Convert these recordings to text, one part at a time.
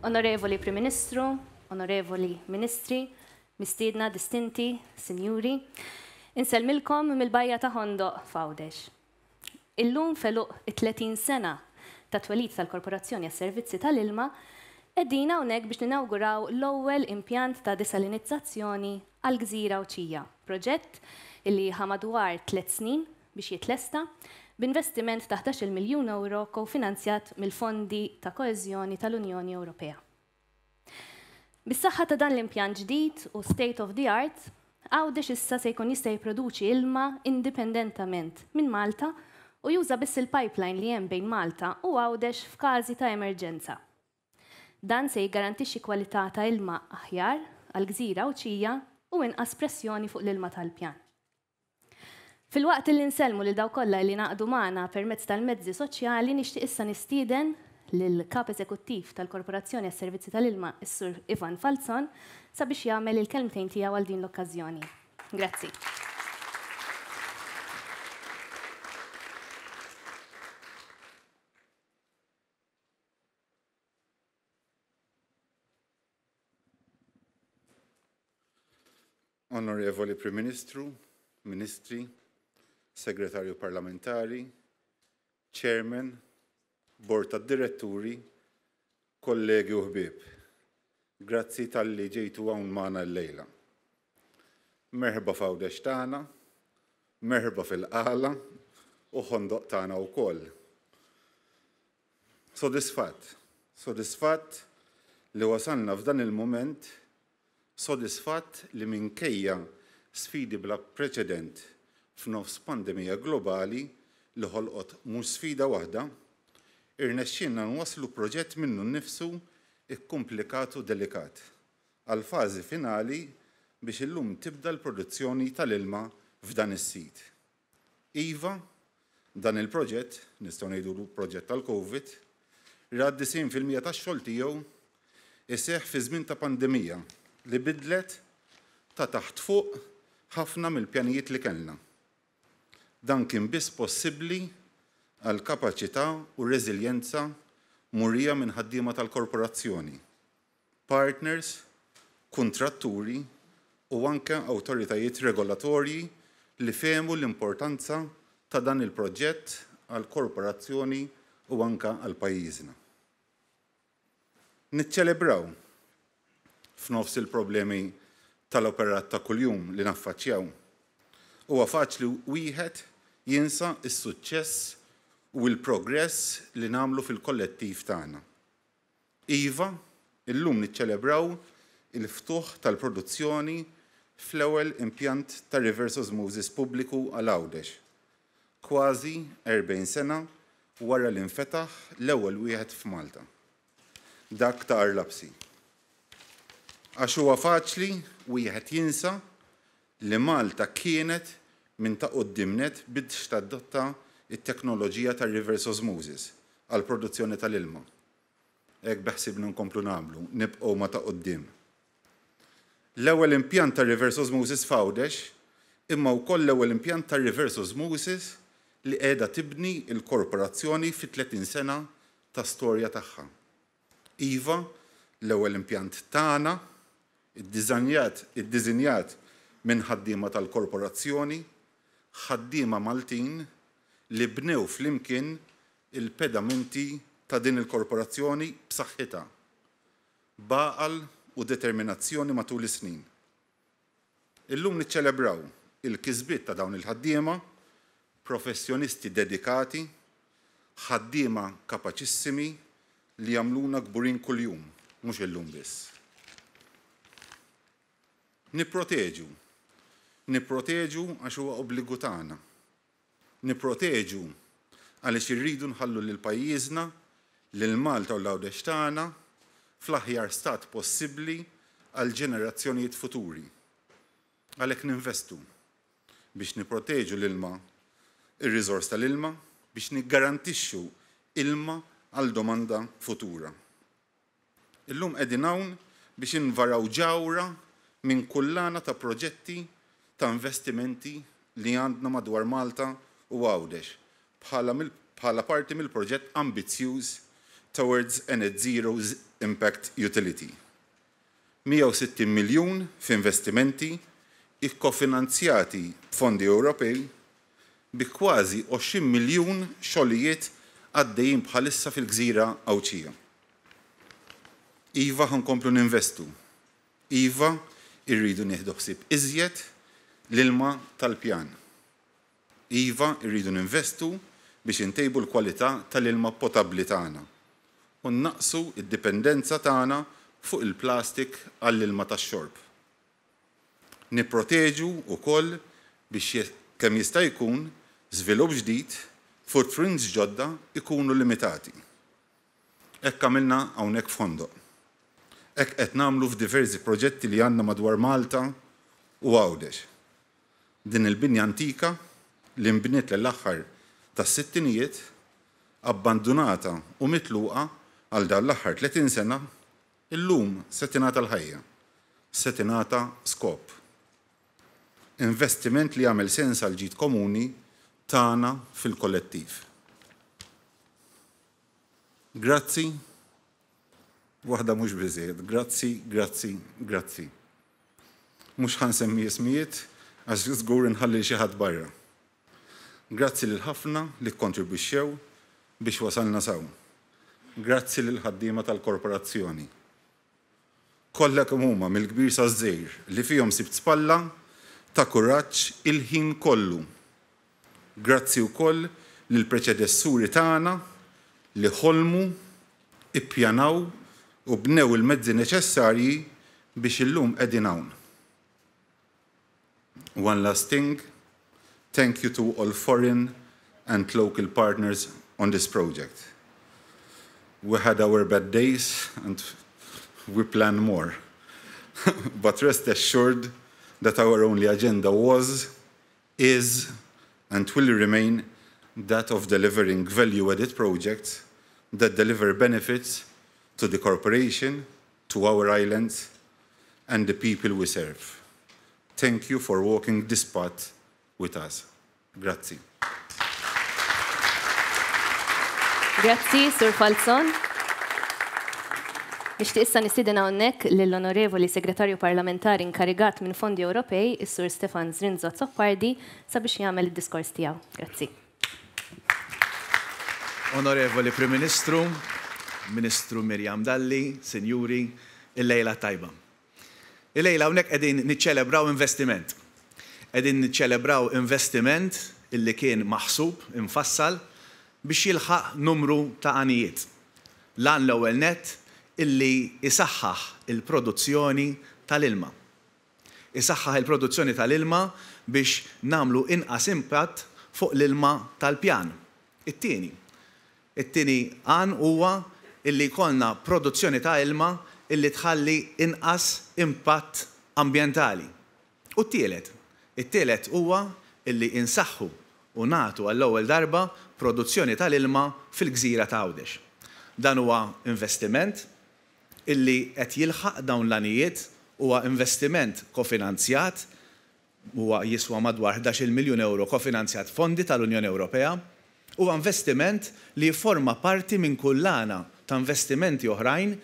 Onorevoli Prim Ministru, Onorevoli Ministri, mistiedna distinti, Sinjuri, insellmilkom mill-Bajja ta' Ħondoq f'Għawdex. Illum f'għeluq it-30 sena tat-twelid tal-Korporazzjoni għas-Servizzi tal-Ilma, qegħdin hawnhekk biex ninawguraw l-ewwel impjant ta' desalinizzazzjoni għall-gżira Għawdxija, proġett li ħa madwar tlett snin biex jitlesta, b'investiment ta' 11-il miljun ewro kofinanzjat mill-Fondi ta' Koeżjoni tal-Unjoni Ewropea. Bis-saħħa ta' dan l-impjant ġdid u state of the art, Għawdex issa se jkun jista' jipproduċi ilma indipendentament minn Malta u juża biss il-pipeline li hemm bejn Malta u Għawdex f'każi ta' emerġenza. Dan se jiggarantixxi kwalità ta' ilma aħjar għall-gżira Għawdxija u inqas pressjoni fuq l-ilma tal-pjan. Filwaqt illi nsellmu lil dawk kollha illi ngħaqdu magħna permezz tal-mezzi soċjali nixtieq issa nistieden lill-Kap Eżekuttiv tal-Korporazzjoni għas-Servizzi tal-Ilma s-Sur Ivan Falzon sabiex jagħmel il-kelmtejn tiegħu għal din l-okkażjoni. Grazzi. Onorevoli Prim Ministru, Ministri, Segretarju Parlamentari, Chairman, Bord tad-Diretturi, kollegi u ħbieb. Grazzi talli ġejtu hawn magħna llejla. Merħba f'Għawdex tagħna, merħba fil-Qala u Ħondoq tagħna wkoll. Sodisfatt, sodisfatt li wasalna f'dan il-mument, sodisfatt li minkejja sfidi bla preċedent f'nofs pandemija globali li ħolqot mhux sfida waħda, irnexxielna nwasslu proġett minnu nnifsu kkumplikat u delikat għall-fażi finali biex illum tibda l-produzzjoni tal-ilma f'dan is-sit. Iva, dan il-proġett, nistgħu ngħidulu proġett tal-Covid, ra 90% tax-xogħol tiegħu jseħħ fi żmien ta' pandemija li bidlet ta' taħt fuq ħafna mill-pjanijiet li kellna. Dan kien biss possibbli għall-kapaċità u r-reżiljenza murija minn ħaddiema tal-Korporazzjoni, partners, kuntratturi u anke awtoritajiet regolatorji li fehmu l-importanza ta' dan il-proġett għall-Korporazzjoni u anke għal pajjiżna. Niċċelebraw, f'nofs il-problemi tal-operat ta' kuljum li naffaċċjaw, huwa faċli wieħed jinsa s-suċċess u l-progress li nagħmlu fil-kollettiv tagħna. Iva, illum niċċelebraw il-ftuħ tal-produzzjoni fl-ewwel impjant ta' reverse osmosis pubbliku għal Għawdex, kważi 40 sena wara li nfetaħ l-ewwel wieħed f'Malta, dak ta' Għar Lapsi. Għax huwa faċli wieħed jinsa li Malta kienet minn ta' quddiem nett biex tadotta t-teknoloġija tar-reverse osmosis għall-produzzjoni tal-ilma. Hekk beħsiebna nkomplu nagħmlu, nibqgħu ma' ta' quddiem. L-ewwel impjant tar-reverse osmosis f'Għawdex, imma wkoll l-ewwel impjant tar-reverse osmosis li qiegħda tibni l-Korporazzjoni fit-30 sena ta' storja tagħha. Iva, l-ewwel impjant tagħna, iddiżanjat iddiżinjat minn ħaddiema tal-Korporazzjoni, ħaddiema Maltin li bnew flimkien il-pedamenti ta' din il-Korporazzjoni b'saħħitha, b'għaqal u determinazzjoni matul is-snin. Illum niċċelebraw il-kisbiet ta' dawn il-ħaddiema, professjonisti dedikati, ħaddiema kapaċissimi li jagħmluna kburin kuljum, mhux illum biss. Nipproteġu. Nipproteġu għax huwa obbligu tagħna. Nipproteġu għaliex irridu nħallu lil pajjiżna, lil Malta u l-Għawdex tagħna fl-aħjar stat possibbli għall-ġenerazzjonijiet futuri. Għalhekk ninvestu biex nipproteġu l-ilma, ir-riżors tal-ilma, biex niggarantixxu ilma għal domanda futura. Illum qegħdin hawn biex invaraw ġawhra minn kullana ta' proġetti ta' investimenti li għandna madwar Malta u Għawdex bħala bħala parti mill-proġett ambizzjuż towards a net zero impact utility. 160 miljun f'investimenti ikkofinanzjati b'fondi Ewropej bi kważi 20 miljun xogħlijiet għaddejjin bħalissa fil-gżira Għawdxija. Iva ħa nkomplu ninvestu. Iva irridu nieħdu ħsieb iżjed l-ilma tal-pjan. Iva irridu ninvestu biex intejbu l-kwalità tal-ilma potabbli tagħna u nnaqqsu d-dipendenza tagħna fuq il-plastik għall-ilma tax-xorb. Nipproteġu wkoll biex kemm jista' jkun żvilupp ġdid, footprints ġodda jkunu limitati. Hekk għamilna hawnhekk f'Ħondoq. Hekk qed nagħmlu f'diversi proġetti li għandna madwar Malta u Għawdex. Din il-binja antika li nbniet l-aħħar tas-sittinijiet, abbandunata u mitluqa għal dan l-aħħar 30 sena, illum se tingħata l-ħajja, se tingħata skop. Investiment li jagħmel sens għal ġid komuni tagħna fil-kollettiv. Grazzi, waħda mhux biżejjed, grazzi, grazzi, grazzi. Mhux ħa nsemmi ismijiet għax żgur inħalli xi ħadd barra. Grazzi lil ħafna li kkontribwixxew biex wasalna s'hawn. Grazzi lil ħaddiema tal-korporazzjoni. Kollha kemm huma mill-kbir saż-żgħir li fihom sibt spalla ta' kuraġġ il-ħin kollu. Grazzi wkoll lill-preċedessuri tagħna li ħolmu, ippjanaw u bnew il-mezzi neċessarji biex illum qegħdin hawn. One last thing, thank you to all foreign and local partners on this project. We had our bad days and we plan more. But rest assured that our only agenda was, is, and will remain that of delivering value-added projects that deliver benefits to the corporation, to our islands, and the people we serve. Thank you for walking this path with us. Grazzi. Grazzi, Sur Falzon. Nixtieq issa nistieden hawnhekk lill-Onorevoli Segretarju Parlamentari inkarigat minn Fondi Ewropej, is-Sur Stefan Zrinzo Azzopardi, sabiex jagħmel id-diskors tiegħu. Grazzi. Onorevoli Prim Ministru, Ministru Miriam Dalli, Sinjuri, il-lejla tajba. Il-lejla hawnhekk qegħdin niċċelebraw investiment. Qegħdin niċċelebraw investiment illi kien maħsub, infassal, biex jilħaq numru ta' għanijiet. L-għan l-ewwel nett illi isaħħaħ il-produzzjoni tal-ilma. Isaħħaħ il-produzzjoni tal-ilma biex nagħmlu inqas impatt fuq l-ilma tal-pjan. It-tieni. It-tieni għan huwa illi jkollna produzzjoni ta' ilma illi tħalli inqas impatt ambjentali. U t-tielet. It-tielet huwa illi insaħħu u nagħtu għall-ewwel darba produzzjoni tal-ilma fil-gżira ta' Għawdex. Dan huwa investiment illi qed jilħaq dawn l-għanijiet, huwa investiment kofinanzjat, huwa jiswa madwar 11-il miljun euro kofinanzjat fondi tal-Unjoni Ewropea, huwa investiment li jifforma parti minn kullana ta' investimenti oħrajn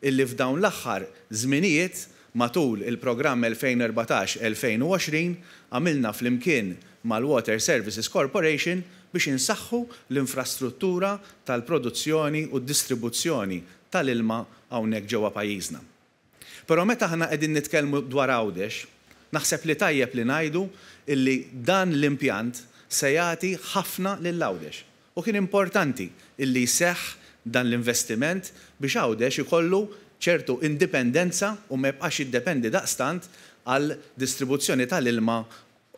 illi f'dawn l-aħħar żminijiet matul il-programm 2014-2020 għamilna flimkien mal-Water Services Corporation biex insaħħu l-infrastruttura tal-produzzjoni u d-distribuzzjoni tal-ilma hawnhekk ġewwa pajjiżna. Però meta aħna qegħdin nitkellmu dwar Għawdex, naħseb li tajjeb li ngħidu illi dan l-impjant se jagħti ħafna lil Għawdex. U kien importanti illi jseħħ dan l-investiment biex Għawdex ikollu ċertu indipendenza u ma jibqax jiddependi daqstant għal distribuzzjoni tal-ilma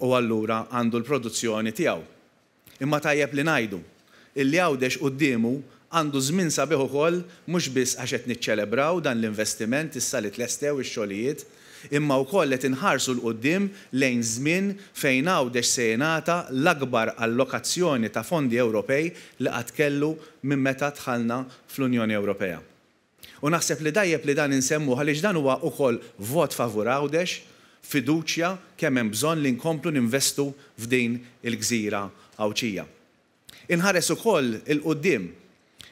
u allura għandu l-produzzjoni tiegħu. Imma tajjeb li ngħidu illi Għawdex quddiemu għandu żmien sabiħ ukoll mhux biss għax qed niċċelebraw dan l-investiment issa li tlestew ix-xogħlijiet, imma wkoll qed inħarsu 'l quddiem lejn żmien fejn Għawdex se jingħata l-akbar allokazzjoni ta' fondi Ewropej li qatt kellu minn meta dħalna fl-Unjoni Ewropea. U naħseb li tajjeb li dan insemmuh għaliex dan huwa ukoll vot favur Għawdex, fiduċja kemm hemm bżonn li nkomplu ninvestu f'din il-gżira Għawdxija. Inħares ukoll 'il quddiem.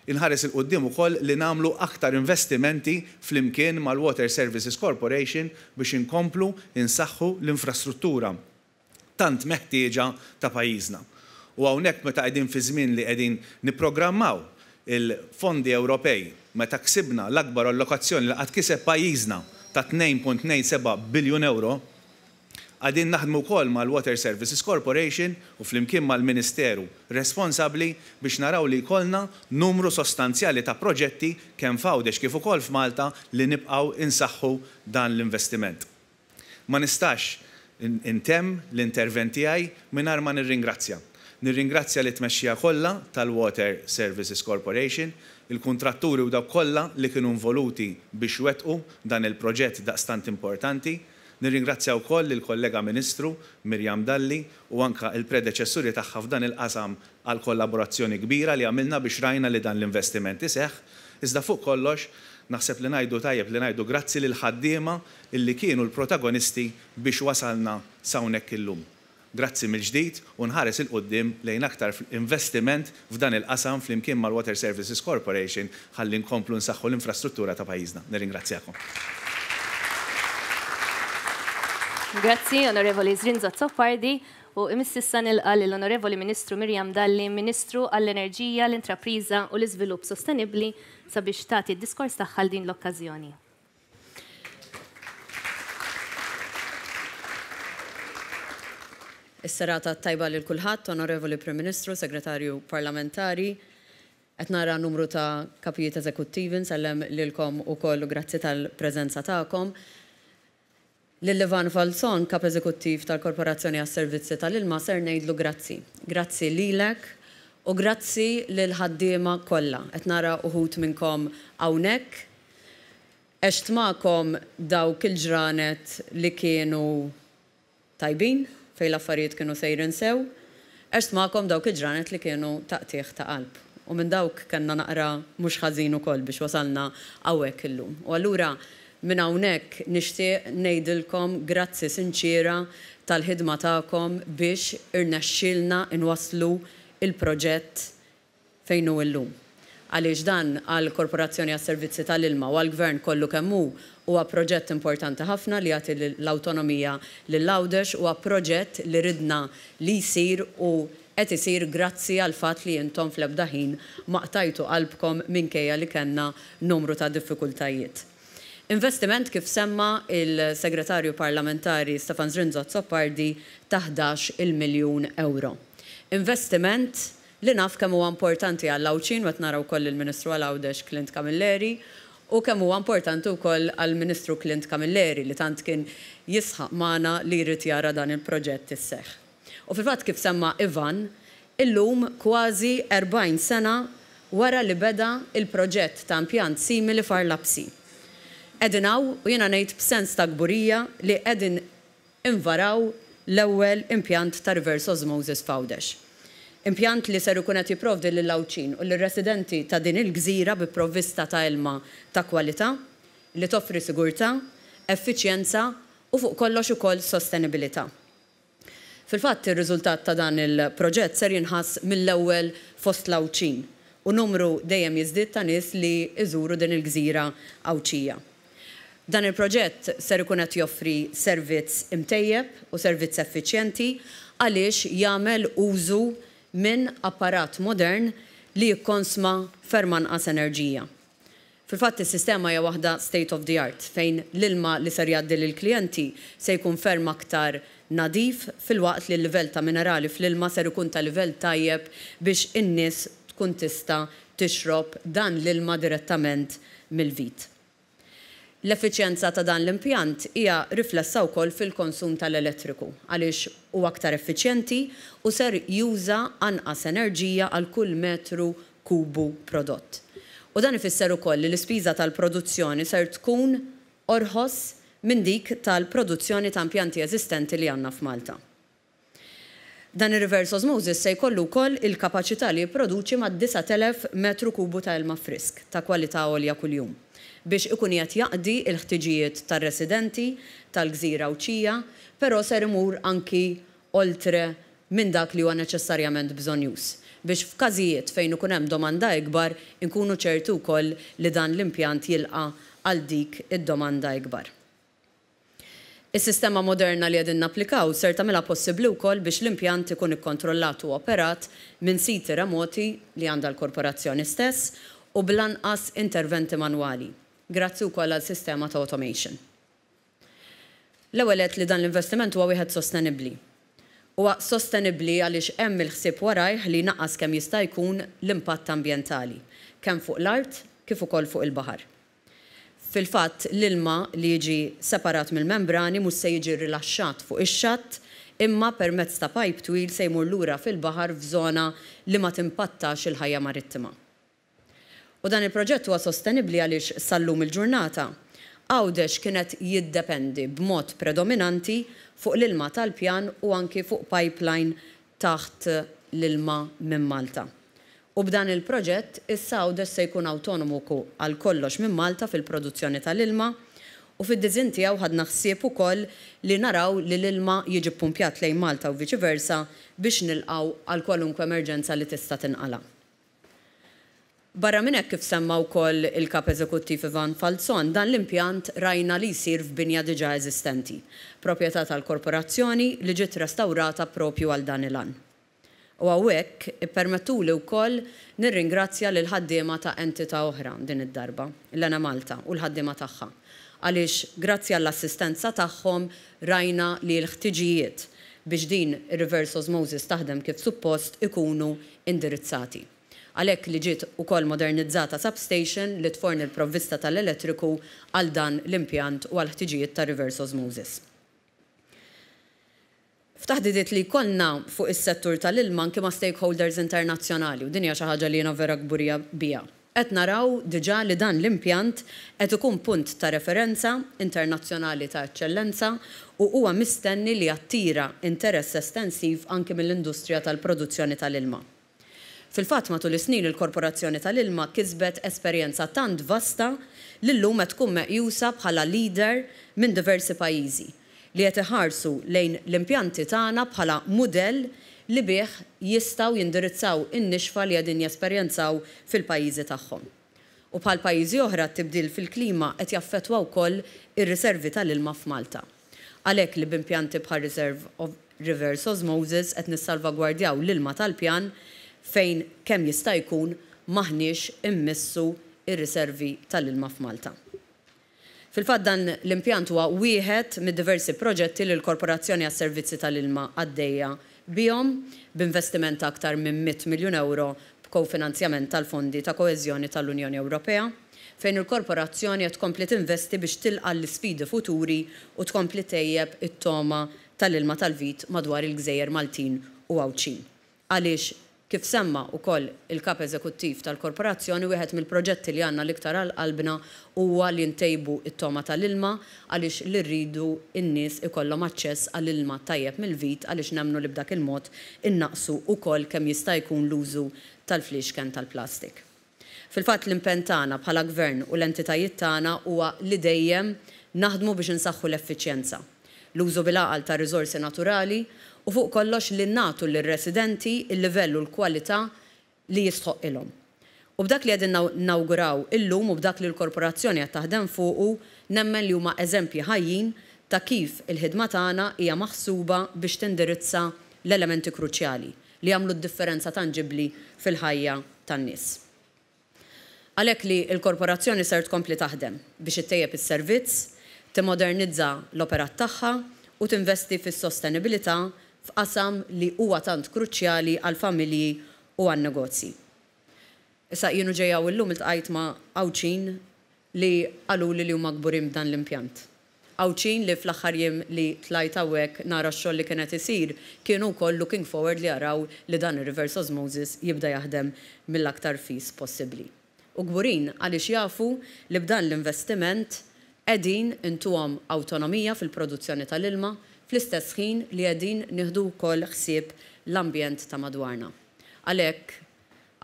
Inħares 'il quddiem ukoll li nagħmlu aktar investimenti flimkien mal-Water Services Corporation biex inkomplu nsaħħu l-infrastruttura tant meħtieġa ta' pajjiżna. U hawnhekk meta qegħdin fi żmien li qegħdin nipprogrammaw il-fondi Ewropej, meta ksibna l-akbar allokazzjoni li qatt kiseb pajjiżna ta' 2.27 biljun ewro, qegħdin naħdmu wkoll mal-Water Services Corporation u flimkien mal-Ministeru responsabbli biex naraw li jkollna numru sostanzjali ta' proġetti kemm f'Għawdex kif ukoll f'Malta li nibqgħu nsaħħu dan l-investiment. Ma nistax intemm l-intervent tiegħi mingħajr ma nirringrazzja. Nirringrazzja lit-tmexxija kollha tal-Water Services Corporation, il-kuntratturi u dawk kollha li kienu involuti biex wettqu dan il-proġett daqstant importanti. Nirringrazzja wkoll lill-kollega Ministru Miriam Dalli u anke l-predeċessuri tagħha f'dan il-qasam għall-kollaborazzjoni kbira li għamilna biex rajna li dan l-investiment iseħħ. Iżda fuq kollox, naħseb li ngħidu tajjeb li ngħidu grazzi lill-ħaddiema illi kienu l-protagonisti biex wasalna s'hawnhekk illum. Grazzi mill-ġdid u nħares 'il quddiem lejn aktar investiment f'dan il-qasam flimkien mal-Water Services Corporation ħalli nkomplu nsaħħu l-infrastruttura ta' pajjiżna. Nirringrazzjakom. Grazzi, Onorevoli Zrinzo Azzopardi, u imiss issa nilqa' lill-Onorevoli Ministru Miriam Dalli, Ministru għall-Enerġija, l-Intrapriża u l-Iżvilupp Sostenibbli sabiex tagħti d-diskors tagħha għal din l-okkażjoni. Is-serata t-tajba lil kulħadd, Onorevoli Prim Ministru, Segretarju Parlamentari. Qed nara numru ta' kapijiet eżekuttivi, nsellem lilkom ukoll u grazzi tal-preżenza tagħkom. Lil Ivan Falzon, Kap Eżekuttiv tal-Korporazzjoni għas-Servizzi tal-Ilma, ser ngħidlu grazzi. Grazzi lilek u grazzi lill-ħaddiema kollha. Qed nara uħud minnkom hawnhekk. Għext magħkom dawk il-ġranet li kienu tajbin, fejn l-affarijiet kienu sejrin sew. Għext magħkom dawk il-ġranet li kienu ta' qtigħ ta' qalb. U minn dawk kellna naqra mhux ħażin ukoll biex wasalna hawnhekk illum. U allura minn hawnhekk nixtieq ngħidilkom grazzi sinċiera tal-ħidma tagħkom biex irnexxielna nwasslu l-proġett fejn hu illum. Għaliex dan għall-Korporazzjoni għas-Servizzi tal-Ilma u għall-Gvern kollu kemm hu, huwa proġett importanti ħafna li jagħti l-awtonomija lil Għawdex, huwa proġett li ridna li jsir u qed isir grazzi għall-fatt li intom fl-ebda ħin ma qtajtu qalbkom minkejja li kellna numru ta' diffikultajiet. Investiment kif semma l-Segretarju Parlamentari Stefan Zrinzo Azzopardi ta' 11-il miljun ewro. Investiment li naf kemm huwa importanti għall-Għawdxin u qed nara wkoll lill-Ministru għal Għawdex Clint Camilleri u kemm huwa importanti wkoll għall-Ministru Clint Camilleri li tant kien jisħaq magħna li jrid jara dan il-proġett isseħħ. U fil-fatt kif semma Ivan, illum kważi 40 sena wara li beda l-proġett ta' impjant simili f'Għar Lapsi. Qegħdin hawn u jiena ngħid b'sens ta' kburija li qegħdin invaraw l-ewwel impjant ta' reverse osmosis f'Għawdex. Impjant li ser ikun qed jipprovdi lill-Għawdxin u lir-residenti ta' din il-gżira bi provvista ta' ilma ta' kwalità, li toffri sigurtà, effiċjenza u fuq kollox ukoll sostenibilità. Fil-fatt ir-riżultat ta' dan il-proġett ser jinħass mill-ewwel fost l-Għawdxin u numru dejjem jiżdied ta' nies li jżuru din il-gżira Għawdxija. Dan il-proġett ser ikun qed joffri servizz imtejjeb u servizz effiċjenti għaliex jagħmel użu minn apparat modern li jikkonsma ferm anqas enerġija. Fil-fatt is-sistema hija waħda state of the art fejn l-ilma li ser jgħaddi lill-klijenti se jkun ferm aktar nadif filwaqt li l-livell ta' minerali fl-ilma ser ikun ta' livell tajjeb biex in-nies tkun tista' tixrob dan l-ilma direttament mill-vit. L-effiċjenza ta' dan l-impjant hija riflessa wkoll fil-konsum tal-elettriku għaliex huwa aktar effiċjenti u ser juża anqas enerġija għal kull metru kubu prodott. U dan ifisser ukoll li l-ispiża tal-produzzjoni ser tkun orħos minn dik tal-produzzjoni ta' impjanti eżistenti li għandna f'Malta. Dan ir-reverse osmosis se jkollu wkoll il-kapaċità li jipproduċi mad-9,000 metru kubu ta' ilma frisk ta' kwalità għolja kuljum, biex ikun qiegħed jaqdi l-ħtiġijiet tar-residenti tal-gżira Għawdxija, però ser imur anki oltre minn dak li huwa neċessarjament bżonnjuż. biex f'każijiet fejn ikun hemm domanda ikbar inkunu ċerti wkoll li dan l-impjant jilqa' għal dik id-domanda ikbar. Is-sistema moderna li qegħdin napplikaw ser tagħmilha possibbli wkoll biex l-impjant ikun ikkontrollat u operat minn siti remoti li għandha l-Korporazzjoni stess u bl-anqas interventi manwali, grazzi wkoll għal sistema ta' automation. L-ewwel għedt li dan l-investiment huwa wieħed sostenibbli. Huwa sostenibbli għaliex hemm il-ħsieb warajh li jnaqqas kemm jista' jkun l-impatt ambjentali, kemm fuq l-art kif ukoll fuq il-baħar. Fil-fatt, l-ilma li jiġi separat mill-membrani mhux se jiġi rilaxxat fuq ix-xatt imma permezz ta' pajp twil se jmur lura fil-baħar f'żona li ma timpattax il-ħajja marittima. U dan il-proġett huwa sostenibbli għaliex sal-lum il-ġurnata, Għawdex kien qed jiddependi b'mod predominanti fuq l-ilma tal-pjan u anki fuq pipeline taħt l-ilma minn Malta. U b'dan il-proġett issa Għawdex se jkun awtonomu għal kollox minn Malta fil-produzzjoni tal-ilma u fid-diżinn tiegħu ħadna ħsieb ukoll li naraw li l-ilma jiġi ppumpjat lejn Malta u viċi versa biex nilqgħu għal kwalunkwe emerġenza li tista' tinqala'. Barra minn hekk kif semma wkoll il-Kap Eżekuttiv Ivan Falzon, dan l-impjant rajna li jsir f'binja diġà eżistenti, proprjetà tal-Korporazzjoni li ġiet restawrata proprju għal dan il-għan. U hawnhekk ippermettuli wkoll nirringrazzja lill-ħaddiema ta' entità oħra din id-darba, l-Enemalta u l-ħaddiema tagħha, għaliex grazzi għall-assistenza tagħhom rajna li l-ħtiġijiet biex din ir-reverse osmosis taħdem kif suppost ikunu indirizzati. Għalhekk li ġiet ukoll modernizzata substation li tforni l-provvista tal-elettriku għal dan l-impjant u għall-ħtiġijiet ta' reverse osmosis. F'taħdidiet li jkollna fuq is-settur tal-ilma anki ma' stakeholders internazzjonali, u din hija xi ħaġa li jiena vera kburija biha, qed naraw diġà li dan l-impjant qed ikun punt ta' referenza internazzjonali ta' eċċellenza u huwa mistenni li jattira interess estensiv anki mill-industrija tal-produzzjoni tal-ilma. Fil-fatt, matul is-snin il-Korporazzjoni tal-Ilma kisbet esperjenza tant vasta li llum qed tkun meqjusa bħala leader minn diversi pajjiżi, li qed iħarsu lejn l-impjanti tagħna bħala mudell li bih jistgħu jindirizzaw in-nixfa li qegħdin jesperjenzaw fil-pajjiżi tagħhom. U bħal pajjiżi oħra t-tibdil fil-klima qed jaffettwa wkoll ir-riservi tal-ilma f'Malta. Għalhekk li b'impjanti bħal Reserve of Reverse Osmosis qed nissalvagwardjaw l-ilma tal-pjan fejn kemm jista' jkun m'aħniex immissu r-riservi tal-ilma f'Malta. Fil-fatt dan l-impjant huwa wieħed mid-diversi proġetti li l-Korporazzjoni għas-Servizzi tal-Ilma għaddejja bihom, b'investiment ta' aktar minn 100 miljun ewro b'kofinanzjament tal-Fondi ta' Koeżjoni tal-Unjoni Ewropea, fejn il-Korporazzjoni qed tkompli tinvesti biex tilqa' għall-isfidi futuri u tkompli ttejjeb it-togħma tal-ilma tal-vit madwar il-gżejjer Maltin u Għawdxin. Għaliex, kif semma wkoll il-Kap Eżekuttiv tal-Korporazzjoni, wieħed mill-proġetti li għandna l-iktar għal qalbna huwa li ntejbu t-togħma tal-ilma għaliex li rridu n-nies ikollhom aċċess għal ilma tajjeb mill-vit għaliex nemmnu li b'dak il-mod innaqqsu wkoll kemm jista' jkun l-użu tal-fliexken tal-plastik. Fil-fatt l-impenn tagħna bħala Gvern u l-entitajiet tagħna huwa li dejjem naħdmu biex insaħħu l-effiċjenza, l-użu bil-għaqal tar-riżorsi naturali u fuq kollox li nagħtu lir-residenti l-livell u l-kwalità li jistħoqqilhom. U b'dak li qegħdin nawguraw illum u b'dak li l-Korporazzjoni qed taħdem fuqu nemmen li huma eżempji ħajjin ta' kif il-ħidma tagħna hija maħsuba biex tindirizza l-elementi kruċjali li jagħmlu d-differenza tanġibbli fil-ħajja tan-nies. Għalhekk li l-Korporazzjoni ser tkompli taħdem biex ittejjeb is-servizz, timmodernizza l-operat tagħha u tinvesti fis-sostenibilità f'qasam li huwa tant kruċjali għall-familji u għan-negozji. Issa jien u ġej hawn illum iltqajt ma' Għawdxin li qaluli li huma kburin b'dan l-impjant. Għawdxin li fl-aħħar jiem li tlajt hawnhekk nara x-xogħol li kien qed isir kienu wkoll looking forward li jaraw li dan ir-reverse osmosis jibda jaħdem mill-aktar fis possibbli. U kburin għaliex jafu li b'dan l-investiment qegħdin intuhom awtonomija fil-produzzjoni tal-ilma fl-istess ħin li qegħdin nieħdu wkoll ħsieb l-ambjent ta' madwarna. Għalhekk.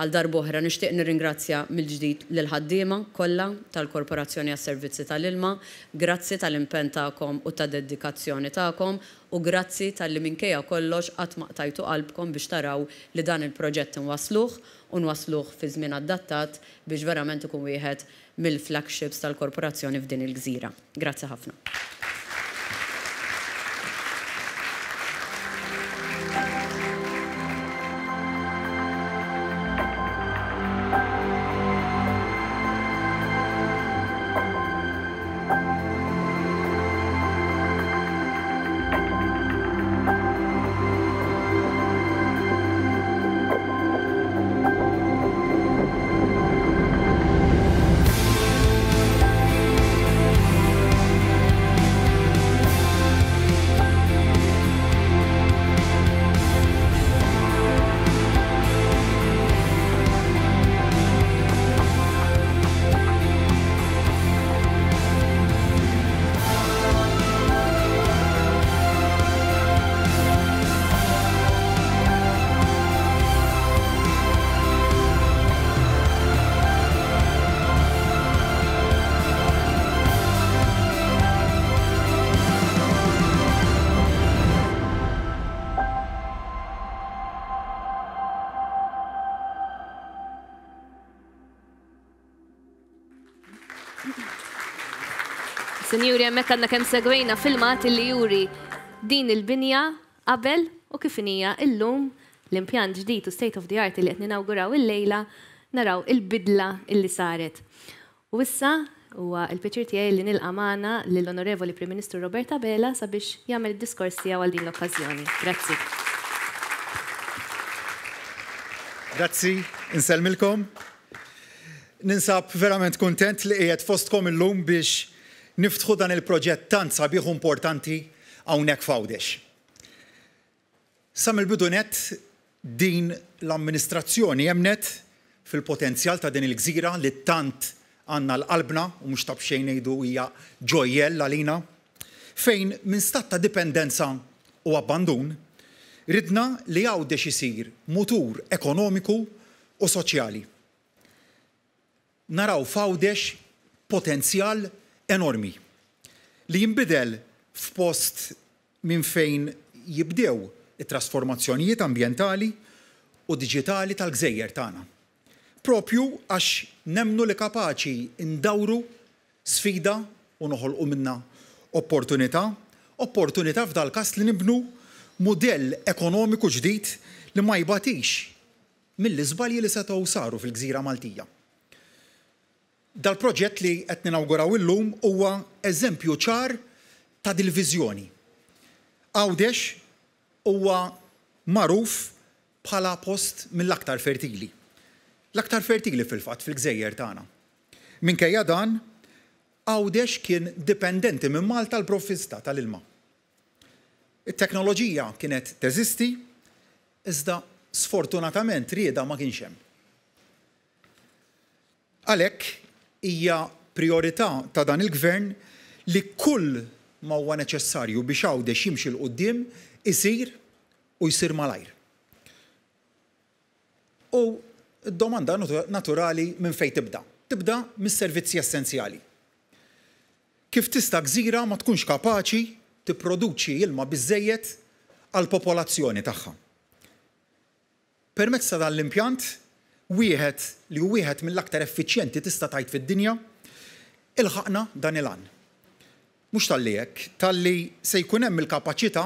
Għal darb'oħra nixtieq nirringrazzja mill-ġdid lill-ħaddiema kollha tal-Korporazzjoni għas-Servizzi tal-Ilma. Grazzi tal-impenn tagħkom u tad-dedikazzjoni tagħkom u grazzi talli minkejja kollox qatt ma qtajtu qalbkom biex taraw li dan il-proġett inwassluh u nwassluh fi żmien adattat biex verament ikun wieħed mill-flagships tal-Korporazzjoni f'din il-gżira. Grazzi ħafna. Sinjuri, hemmhekk għandna kemm segwejna filmat li juri din il-binja qabel u kif inhija illum l-impjant ġdid u state of the art li qed ninawguraw illejla naraw il-bidla illi saret. U issa huwa l-pjaċir tiegħi li nilqa' magħna lill-Onorevoli Prim Ministru Robert Abela sabiex jagħmel id-diskors tiegħu għal din l-okkażjoni. Grazzi. Grazzi, insellmilkom. Ninsab verament kuntent li qiegħed fostkom illum biex niftħu dan il-proġett tant sabiħ u importanti hawnhekk f'Għawdex. Sa mill-bidu nett din l-amministrazzjoni emmnet fil-potenzjal ta' din il-gżira li tant għandna għal qalbna u mhux ta' b'xejn ngħidu hija ġojjell għalina, fejn minn stat ta' dipendenza u abbandun ridna li Għawdex isir mutur ekonomiku u soċjali. Naraw f'Għawdex potenzjal enormi li jinbidel f'post minn fejn jibdew it-trasformazzjonijiet ambjentali u diġitali tal-gżejjer tagħna. Proprju għax nemmnu li kapaċi ndawru sfida u noħolqu minnha opportunità, opportunità f'dal-każ li nibnu mudell ekonomiku ġdid li ma jbatix mill-iżbalji li setgħu saru fil-gżira Maltija. Dal-proġett li qed ninawguraw illum huwa eżempju ċar ta' dil-viżjoni. Għawdex huwa magħruf bħala post mill-aktar fertili. L-aktar fertili fil-fatt fil-gżejjer tagħna. Minkejja dan, Għawdex kien dipendenti minn Malta għall-provvista tal-ilma. It-teknoloġija kienet teżisti, iżda sfortunatament rieda ma kienx hemm. Għalhekk hija prijorità ta' dan il-Gvern li kull ma huwa neċessarju biex Għawdex jimxi 'l quddiem isir u jsir malajr. U d-domanda naturali minn fejn tibda? Tibda mis-servizzi essenzjali. Kif tista' gżira ma tkunx kapaċi tipproduċi ilma biżżejjed għall-popolazzjoni tagħha? Permezz ta' dan l-impjant, wieħed li hu wieħed mill-aktar effiċjenti tista' tgħid fid-dinja, ilħaqna dan il-għan. Mhux talli hekk, talli se jkun hemm il-kapaċità,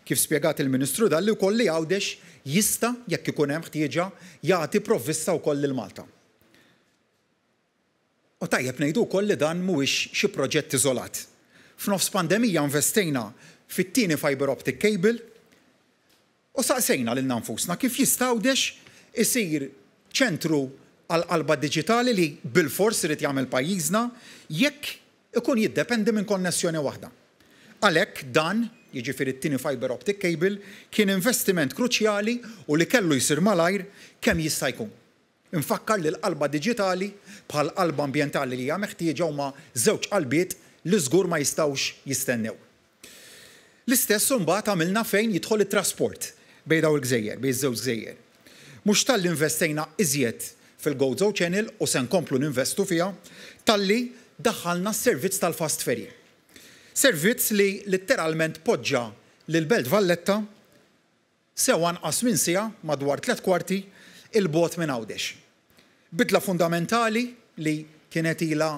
kif spjegat il-Ministru Dalli wkoll li Għawdex jista', jekk ikun hemm ħtieġa, jagħti provvista wkoll lil Malta. U tajjeb ngħidu wkoll li dan mhuwiex xi proġett iżolat. F'nofs pandemija investejna fit-tieni fibre optic cable u saqsejna lilna nfusna kif jista' Għawdex isir ċentru għall-qalba diġitali li bilfors irid jagħmel pajjiżna jekk ikun jiddependi minn konnessjoni waħda. Għalhekk dan, jiġifieri t-tieni fibre optic cable, kien investiment kruċjali u li kellu jsir malajr kemm jista' jkun. Infakkar li l-qalba diġitali, bħall-qalba ambjentali li hija meħtieġa huma żewġ qalbiet li żgur ma jistgħux jistennew. L-istess imbagħad għamilna fejn jidħol it-trasport bejn dawn il-gżejjer, bejn iż-żewġ gżejjer. Mhux talli investejna iżjed fil-Gozo Channel u se nkomplu ninvestu fiha, talli daħħalna s-servizz tal-fast ferry. Servizz li litteralment poġġa lill-Belt Valletta sew anqas minn siegħa, madwar tlett kwarti, 'il bogħod minn Għawdex. Bidla fundamentali li kienet ilha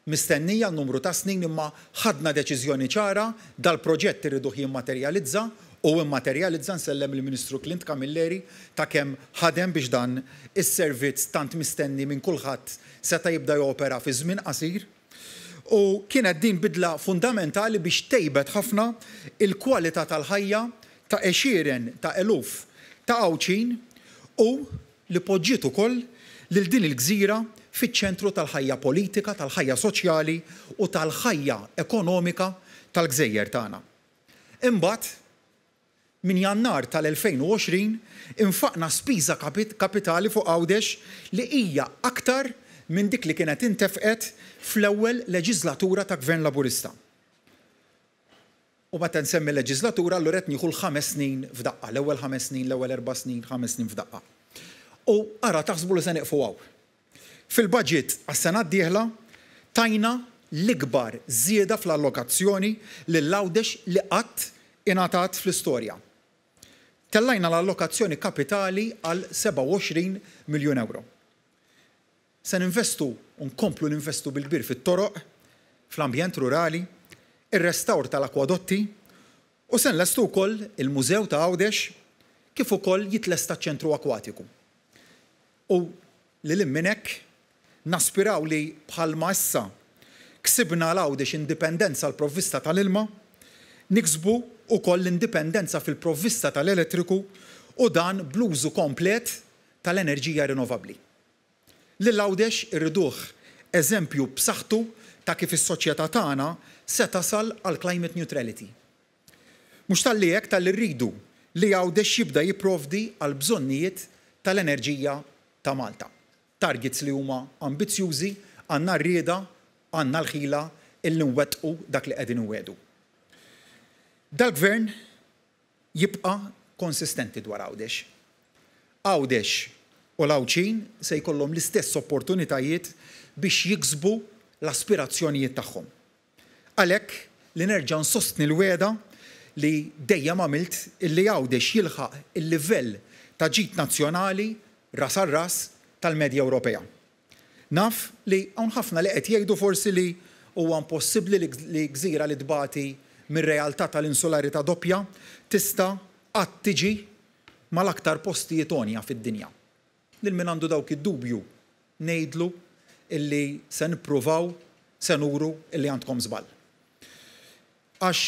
mistennija għal numru ta' snin imma ħadna deċiżjoni ċara, dal-proġett irriduh jimmaterjalizza u immaterjalizza, nsellem lill-Ministru Clint Camilleri ta' kemm ħadem biex dan is-servizz tant mistenni minn kulħadd seta' jibda jopera fi żmien qasir. U kienet din bidla fundamentali biex tejbet ħafna il-kwalità tal-ħajja ta' għexieren ta' eluf ta' Għawdxin u li poġġiet ukoll lil din il-gżira fiċ-ċentru tal-ħajja politika, tal-ħajja soċjali u tal-ħajja ekonomika tal-gżejjer tagħna. Imbagħad, minn Jannar tal-2020 infaqna spiża kapitali fuq Għawdex li hija aktar minn dik li kienet intefqet fl-ewwel leġiżlatura ta' Gvern Laburista. U meta nsemmi leġiżlatura allura qed nieħu l-ħames snin f'daqqa, l-ewwel ħames snin, l-ewwel erba' snin, ħames snin f'daqqa. U ara taħsbu li se nieqfu hawn. Fil-baġit għas-sena d-dieħla tajna l-ikbar żieda fl-allokazzjoni lil Għawdex li qatt ingħatat fl-istorja. Tellajna l-allokazzjoni kapitali għal 27 miljun ewro. Se ninvestu u nkomplu ninvestu bil-kbir fit-toroq, fl-ambjent rurali, ir-restawr tal-akwadotti u se nlestu wkoll il-Mużew ta' Għawdex kif ukoll jitlesta ċ-Ċentru Akwatiku. U lil hinn minn hekk, naspiraw li bħalma issa ksibna għal Għawdex indipendenza għall-provvista tal-ilma, niksbu wkoll l-indipendenza fil-provvista tal-elettriku u dan bl-użu komplet tal-enerġija rinnovabbli. Lil Għawdex irriduh eżempju b'saħħtu ta' kif is-soċjetà tagħna se tasal għal climate neutrality. Mhux talli hekk talli rridu li Għawdex jibda jipprovdi għall-bżonnijiet tal-enerġija ta' Malta. Targets li huma ambizzjużi, għandna r-rieda, għandna l-ħila illi nwettqu dak li qegħdin inwiegħdu. Dal-Gvern jibqa' konsistenti dwar Għawdex. Għawdex u l-Għawdxin se jkollhom l-istess opportunitajiet biex jiksbu l-aspirazzjonijiet tagħhom. Għalhekk li nerġa' nsostni l-wegħda li dejjem għamilt illi Għawdex jilħaq il-livell ta' ġid nazzjonali ras għal ras tal-medja Ewropea. Naf li hawn ħafna li qed jgħidu forsi li huwa impossibbli li gżira li tbati mir-realtà tal-insularità doppja tista' qatt tiġi mal-aktar postijiet għonja fid-dinja. Lil min għandu dawk id-dubju ngħidlu illi se nippruvaw se nuru illi għandkom żball. Għax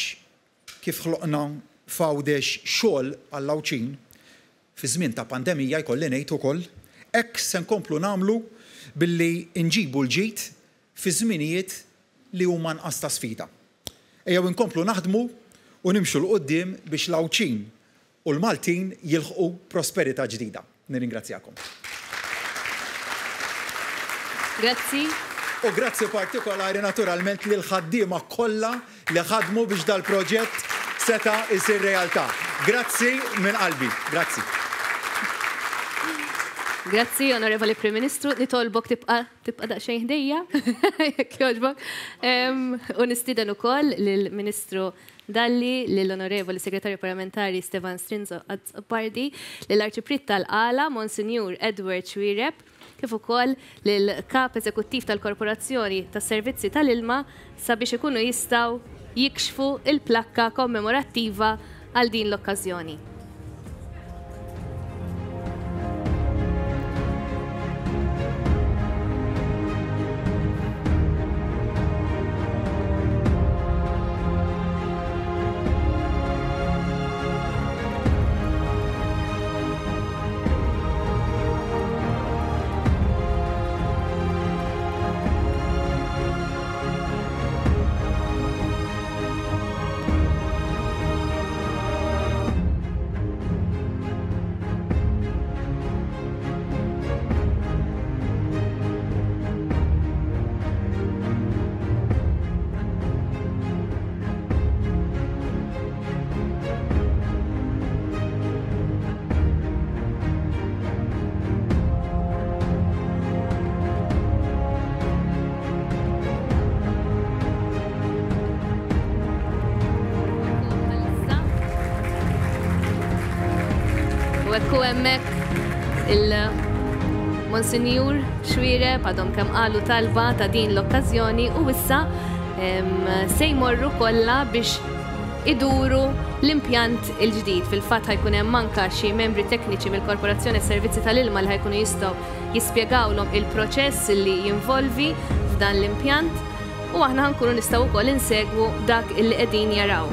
kif ħloqna f'Għawdex xogħol għall-Għawdxin, fi żmien ta' pandemija jkolli ngħid ukoll, hekk se nkomplu nagħmlu billi nġibu l-ġid fi żminijiet li huma anqas ta' sfida. Ejjew inkomplu naħdmu u nimxu 'l quddiem biex l-Għawdxin u l-Maltin jilħqu prosperità ġdida. Nirringrazzjakom. Grazzi. U grazzi partikolari naturalment lill-ħaddiema kollha li ħadmu biex dal-proġett seta' jsir realtà. Grazzi minn qalbi. Grazzi. Grazzi, Onorevoli Prim Ministru. Nitolbok tibqa' tibqa' daqsxejn ħdejja, jekk jogħġbok. U nistieden ukoll lill-Ministru Dalli, lill-Onorevoli Segretarju Parlamentari Stevan Strinzo Azzopardi, lill-Arċipriet tal-Qala, Monsinjur Edward Xuereb, kif ukoll lill-Kap Eżekuttiv tal-Korporazzjoni tas-Servizzi tal-Ilma sabiex ikunu jistgħu jikxfu l-plakka kommemorattiva għal din l-okkażjoni. U hekk hu hemmhekk il-Monsinjur Xuereb għadhom kemm qalu talba ta' din l-okkażjoni u issa se jmorru kollha biex iduru l-impjant il-ġdid. Fil-fatt ħa jkun hemm anke xi membri tekniċi mill-Korporazzjoni għas-Servizzi tal-Ilma li ħa jkunu jistgħu jispjegawlhom il-proċess li jinvolvi f'dan l-impjant u aħna ħa nkunu nistgħu wkoll insegwu dak illi qegħdin jaraw.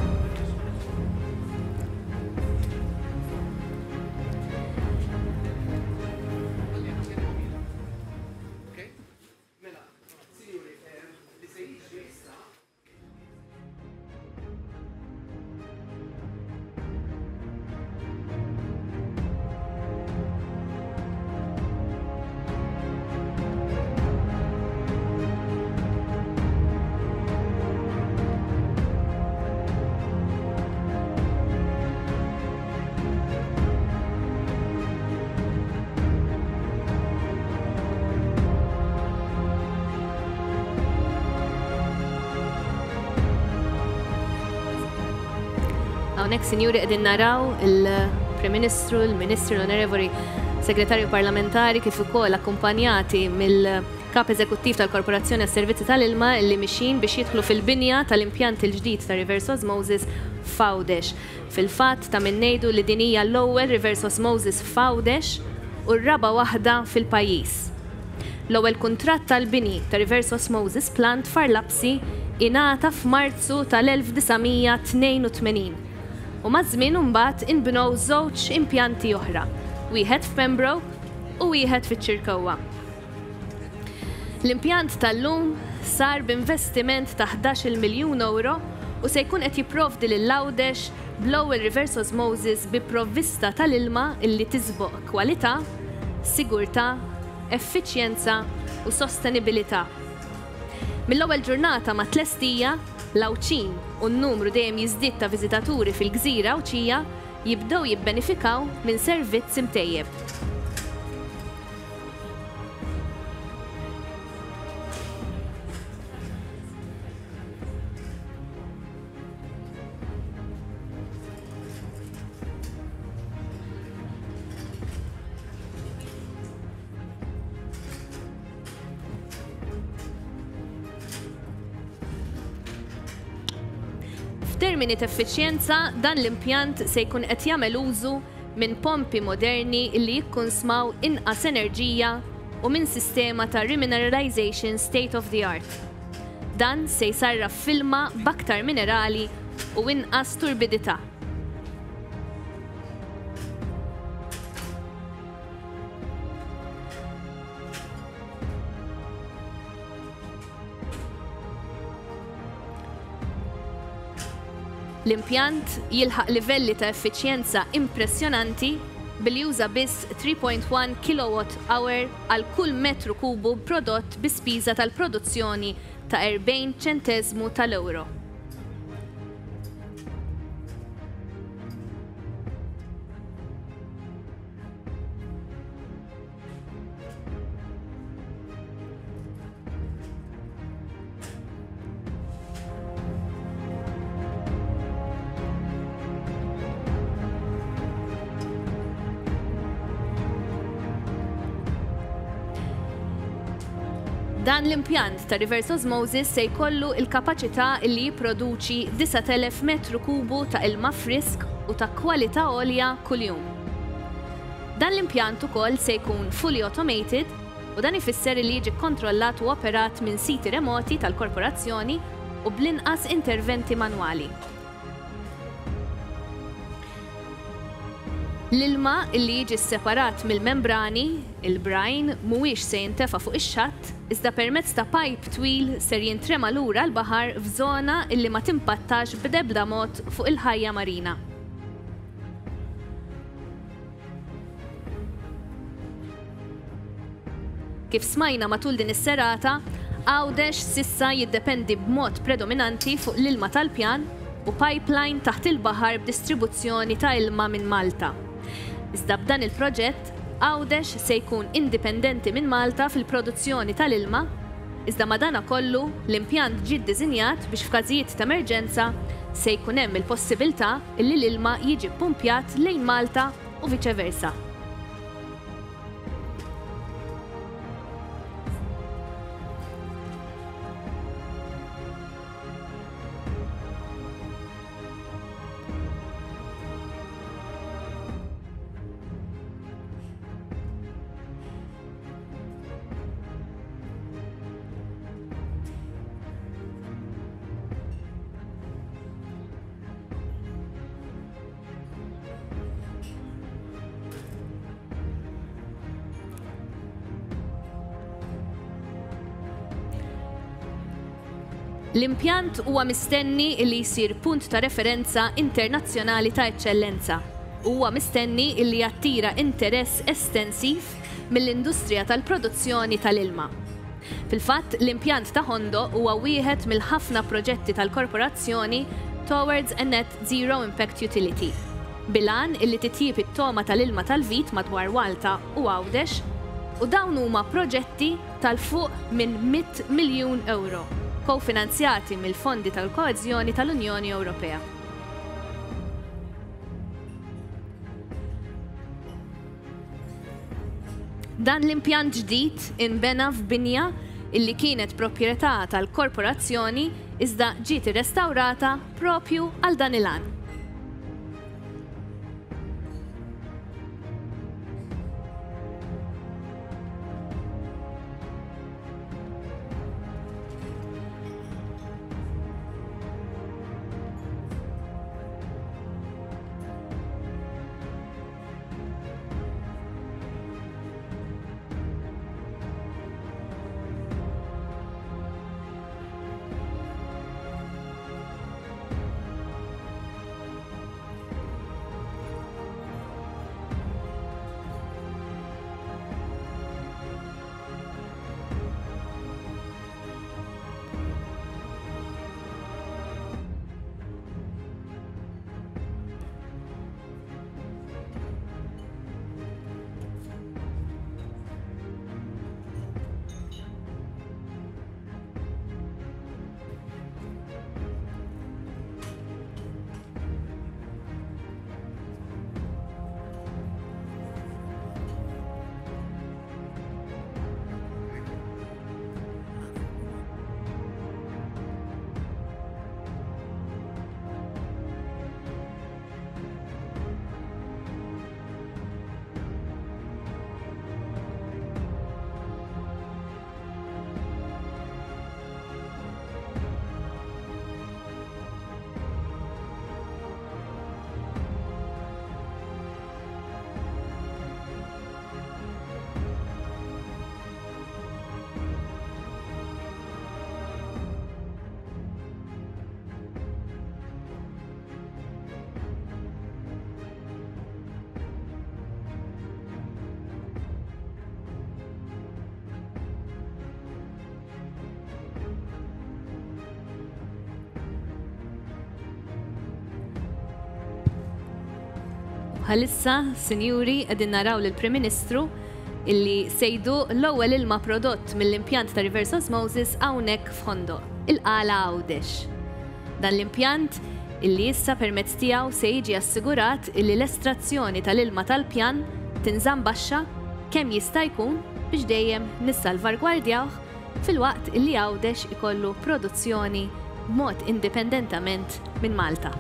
Hawnhekk, sinjuri, qegħdin naraw il-Prim Ministru, il-Ministri, l-Onorevoli Segretarju Parlamentari kif ukoll akkumpanjati mill-Kap Eżekuttiv tal-Korporazzjoni għas-Servizzi tal-Ilma li mixjin biex jidħlu fil-binja tal-impjant il-ġdid ta' reverse osmosis f'Għawdex. Fil-fatt, ta' min ngħidu li din hija l-ewwel reverse osmosis f'Għawdex u r-raba' waħda fil-pajjiż. L-ewwel kuntratt għall-bini ta' reverse osmosis plant f'Għar Lapsi ingħata f'Marzu tal-1982 u maż-żmien imbagħad inbnew żewġ impjanti oħra, wieħed f'Pembroke u wieħed fiċ-Ċirkewwa. L-impjant tal-lum sar b'investiment ta' 11-il miljun ewro u se jkun qed jipprovdi lil Għawdex bl-ewwel reverse osmosis bi provvista tal-ilma illi tiżboq kwalità, sigurtà, effiċjenza u sostenibilità. Mill-ewwel ġurnata mat-tlestija, l-Għawdxin u n-numru dejjem jiżdied ta' viżitaturi fil-gżira Għawdxija jibdew jibbenifikaw minn servizz imtejjeb. F'termini t'effiċjenza, dan l-impjant se jkun qed jagħmel użu minn pompi moderni li jikkunsmaw inqas enerġija u minn sistema ta' remineralization state of the art. Dan se jsarraf f'ilma b'aktar minerali u inqas turbidità. L-impjant jilħaq livelli ta' effiċjenza impressjonanti billi juża biss 3.1 kilowatt hour għal kull metru kubu prodott bi spiża tal-produzzjoni ta' 40 ċenteżmu tal-ewro. Dan l-impjant ta' reverse osmosis se jkollu l-kapaċità li jipproduċi 9,000 metru kubu ta' ilma frisk u ta' kwalità għolja kuljum. Dan l-impjant ukoll se jkun fully automated u dan ifisser li jiġi kkontrollat u operat minn siti remoti tal-korporazzjoni u bl-inqas interventi manwali. L-ilma li jiġi sseparat mill-membrani, il-brine, mhuwiex se jintefa' fuq ix-xatt, iżda permezz ta' pajp twil ser jintrema lura l-baħar f'żona li ma timpattax b'debda mod fuq il-ħajja marina. Kif smajna matul din is-serata, Għawdex s'issa jiddependi b'mod predominanti fuq l-ilma tal-pjan u pipeline taħt il-baħar b'distribuzzjoni ta' ilma minn Malta. Iżda b'dan il-proġett, Għawdex se jkun indipendenti minn Malta fil-produzzjoni tal-ilma, iżda madanakollu l-impjant ġie ddisinjat biex f'każijiet ta' emerġenza se jkun hemm il-possibiltà li l-ilma jiġi ppumpjat lejn Malta. u viċe versa. L-impjant huwa mistenni li jsir punt ta' referenza internazzjonali ta' eċċellenza u huwa mistenni li jattira interess estensiv mill-industrija tal-produzzjoni tal-ilma. Fil-fatt, l-impjant ta' Ħondoq huwa wieħed mill-ħafna proġetti tal-korporazzjoni Towards a Net Zero Impact Utility, bil-għan illi titjieb it-togħma tal-ilma tal-vit madwar Malta u Għawdex u dawn huma proġetti tal fuq minn 100 miljun ewro, kofinanzjati mill-fondi tal-koeżjoni tal-Unjoni Ewropea. Dan l-impjant ġdid inbena f'binja illi kienet proprjetà tal-korporazzjoni iżda ġiet irrestawrata proprju għal dan il-għan. Bħalissa, sinjuri, qegħdin naraw lill-Prim Ministru illi se jduq l-ewwel ilma prodott mill-impjant ta' reverse osmosis hawnhekk f'Ħondoq, il-Qala Għawdex. Dan l-impjant illi issa permezz tiegħu se jiġi assigurat illi l-estrazzjoni tal-ilma tal-pjan tinżamm baxxa kemm jista' jkun biex dejjem nissalvargwardjawh filwaqt illi Għawdex ikollu produzzjoni b'mod indipendentament minn Malta.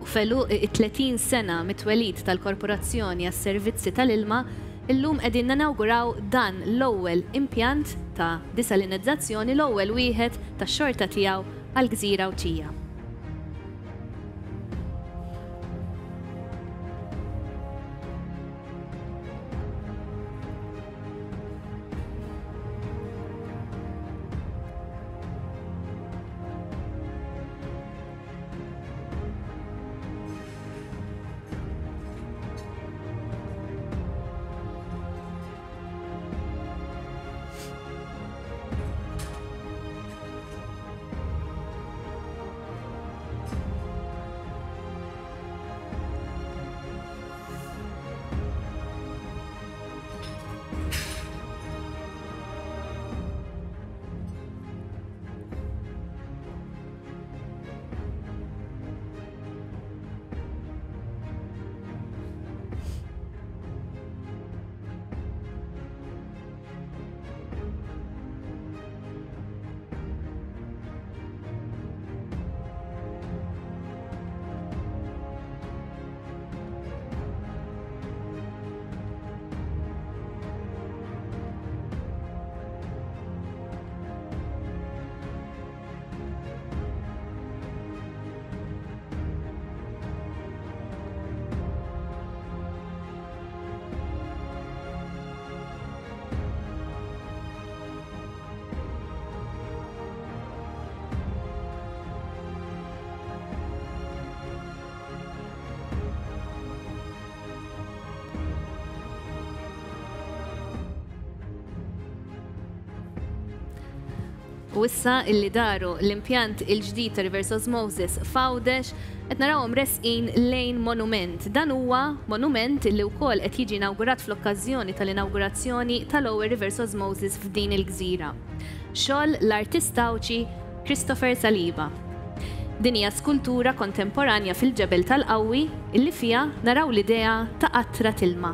F'għeluq it-30 sena mit-twelid tal-Korporazzjoni għas-Servizzi tal-Ilma, illum qegħdin ninawguraw dan l-ewwel impjant ta' disalinizzazzjoni, l-ewwel wieħed tax-xorta tiegħu għall-gżira Għawdxija. U issa illi daru l-impjant il-ġdid ta' reverse osmosis f'Għawdex, qed narawhom resqin lejn monument. Dan huwa monument illi wkoll qed jiġi inawgurat fl-okkażjoni tal-inawgurazzjoni tal-ewwel reverse osmosis f'din il-gżira. Xogħol l-artist Għawdxi Christopher Saliba. Din hija skultura kontemporanja fil-ġebel tal-qawwi illi fiha naraw l-idea ta' qatra t'ilma.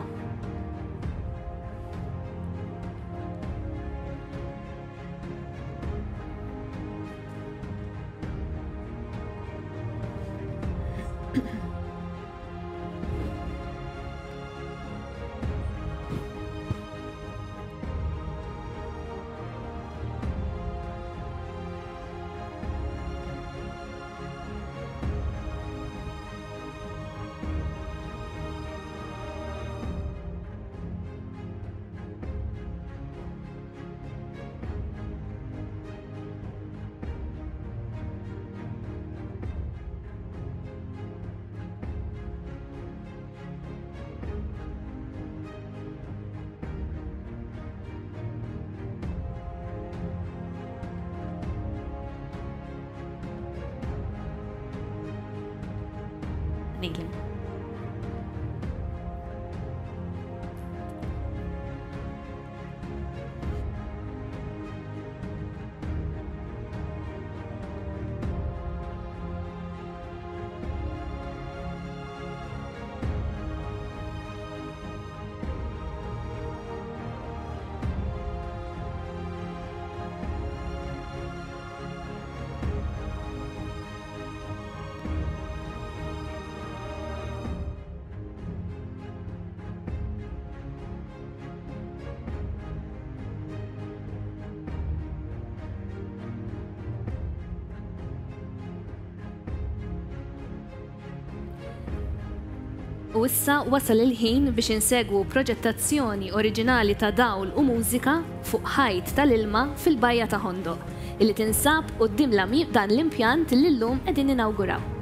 Nilin. U issa wasal il-ħin biex insegwu proġettazzjoni oriġinali ta' dawl u mużika fuq ħajt tal-ilma fil-Bajja ta' Ħondoq, illi tinsab quddiem dan l-impjant li llum qegħdin ninawguraw.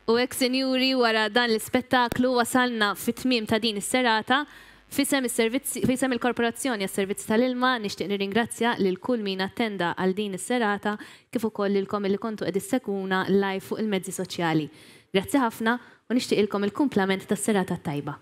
U hekk, sinjuri, wara dan l-ispettaklu wasalna fit-tmiem ta' din is-serata. F'isem is-servizzi, f'isem il-Korporazzjoni għas-Servizzi tal-Ilma nixtieq nirringrazzja lil kull min attenda għal din is-serata kif ukoll lilkom illi kontu qed issegwuna live fuq il-mezzi soċjali. Grazzi ħafna u nixtieqilkom il-kumplament tas-serata t-tajba.